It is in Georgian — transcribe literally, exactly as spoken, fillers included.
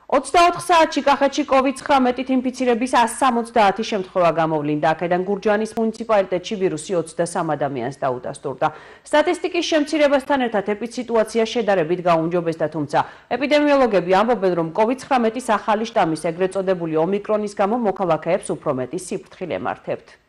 ოცდაოთხ საათში კახეთში კოვიდ ცხრამეტით ინფიცირების ასს სამოცდაათი შემთხვევა გამოვლინდა. აქედან გურჯაანის მუნიციპალიტეტში ვირუსი ოცდასამ ადამიანს დაუდასტურდა. სტატისტიკის შემცირებასთან ერთად ეპიდსიტუაცია შედარებით გაუმჯობესდა, თუმცა ეპიდემიოლოგები ამბობენ, რომ კოვიდ ცხრამეტის ახალი შტამის, ეგრეთ წოდებული ომიკრონის გამო მოქალაქეებს უფრო მეტი სიფრთხილე ემართებთ.